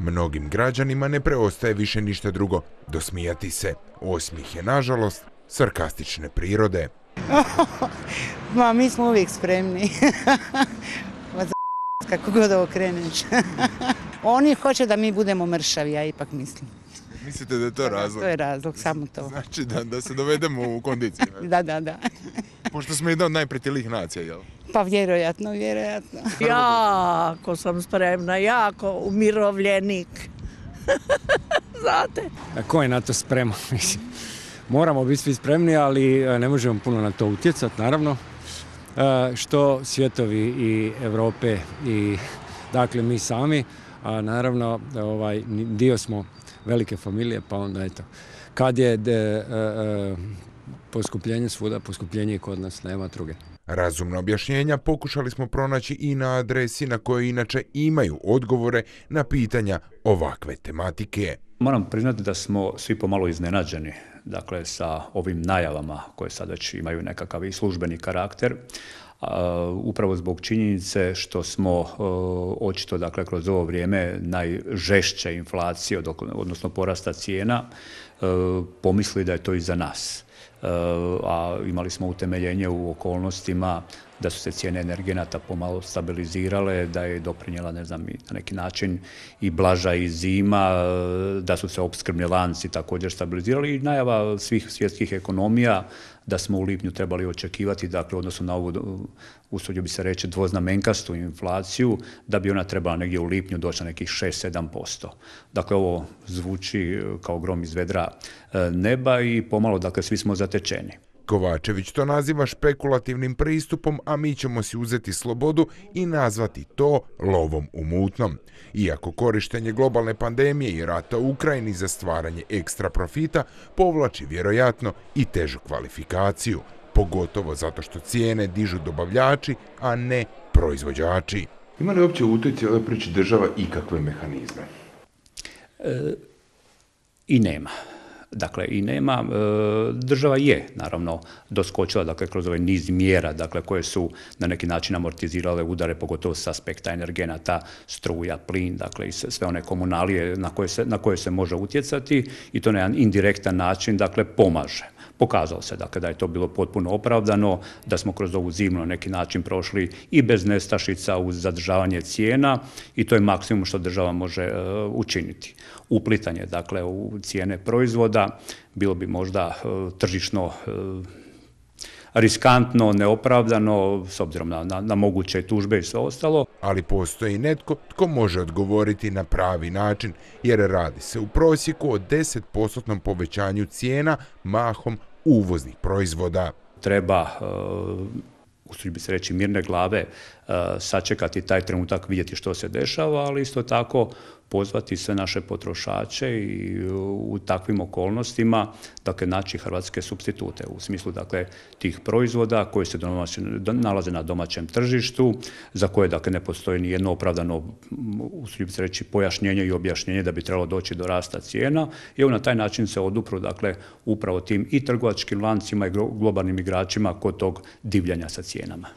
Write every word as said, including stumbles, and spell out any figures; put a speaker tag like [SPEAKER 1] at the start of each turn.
[SPEAKER 1] Mnogim građanima ne preostaje više ništa drugo dosmijati se. Osmijeh je, nažalost, sarkastične prirode.
[SPEAKER 2] Ma, mi smo uvijek spremni. Kako god ovo kreneš. Oni hoće da mi budemo mršavi, ja ipak mislim.
[SPEAKER 1] Mislite da je to razlog?
[SPEAKER 2] To je razlog, samo to.
[SPEAKER 1] Znači da, da se dovedemo u kondiciju.
[SPEAKER 2] Da, da, da.
[SPEAKER 1] Pošto smo jedna od najpretilijih nacija, jel?
[SPEAKER 2] Pa vjerojatno, vjerojatno.
[SPEAKER 3] Jako sam spremna, jako umirovljenik. Znate?
[SPEAKER 4] A ko je na to spreman? Moramo biti svi spremni, ali ne možemo puno na to utjecati, naravno. Što svjetovi i Europe i dakle mi sami, a naravno ovaj, dio smo velike familije, pa onda eto, kad je de, e, e, poskupljenje svuda, poskupljenje i kod nas, nema druge.
[SPEAKER 1] Razumna objašnjenja pokušali smo pronaći i na adresi na kojoj inače imaju odgovore na pitanja ovakve tematike.
[SPEAKER 5] Moram priznati da smo svi pomalo iznenađeni, dakle, sa ovim najavama koje sad već imaju nekakav i službeni karakter, upravo zbog činjenice što smo očito, dakle, kroz ovo vrijeme najžešće inflacije, odnosno porasta cijena, pomislili da je to i za nas. A imali smo utemeljenje u okolnostima da su se cijene energenata pomalo stabilizirale, da je doprinijela, ne znam, na neki način i blaža i zima, da su se opskrbni lanci također stabilizirali i najava svih svjetskih ekonomija da smo u lipnju trebali očekivati, dakle, odnosno na ovu, usudio bi se reći, dvoznamenkastu inflaciju, da bi ona trebala negdje u lipnju doći na nekih šest do sedam posto. Dakle, ovo zvuči kao grom iz vedra neba i pomalo, dakle, svi smo zatečeni.
[SPEAKER 1] Kovačević to naziva špekulativnim pristupom, a mi ćemo si uzeti slobodu i nazvati to lovom u mutnom. Iako korištenje globalne pandemije i rata u Ukrajini za stvaranje ekstra profita povlači vjerojatno i težu kvalifikaciju, pogotovo zato što cijene dižu dobavljači, a ne proizvođači. Ima li uopće u toj cijeloj priči država ikakve mehanizme?
[SPEAKER 5] E, I nema. Dakle, i nema. Država je, naravno, doskočila, dakle, kroz ovaj niz mjera, dakle, koje su na neki način amortizirale udare, pogotovo s aspekta energenata, struja, plin, dakle, i sve one komunalije na koje se, na koje se može utjecati i to na jedan indirektan način, dakle, pomaže. Pokazalo se, dakle, da je to bilo potpuno opravdano, da smo kroz ovu zimu na neki način prošli i bez nestašica uz zadržavanje cijena i to je maksimum što država može uh, učiniti. Uplitanje, dakle, u cijene proizvoda bilo bi možda uh, tržišno uh, riskantno, neopravdano, s obzirom na, na, na moguće tužbe i sve ostalo.
[SPEAKER 1] Ali postoji netko tko može odgovoriti na pravi način, jer radi se u prosjeku o deset postotnom povećanju cijena mahom uvoznih proizvoda.
[SPEAKER 5] Treba, uh, usuđujem se reći, mirne glave uh, sačekati taj trenutak, vidjeti što se dešava, ali isto tako pozvati sve naše potrošače i u takvim okolnostima, dakle, naći hrvatske supstitute u smislu, dakle, tih proizvoda koji se nalaze na domaćem tržištu, za koje, dakle, ne postoji ni jedno opravdano, usuđujem se reći, pojašnjenje i objašnjenje da bi trebalo doći do rasta cijena i na taj način se odupru, dakle, upravo tim i trgovačkim lancima i globalnim igračima kod tog divljanja sa cijenama.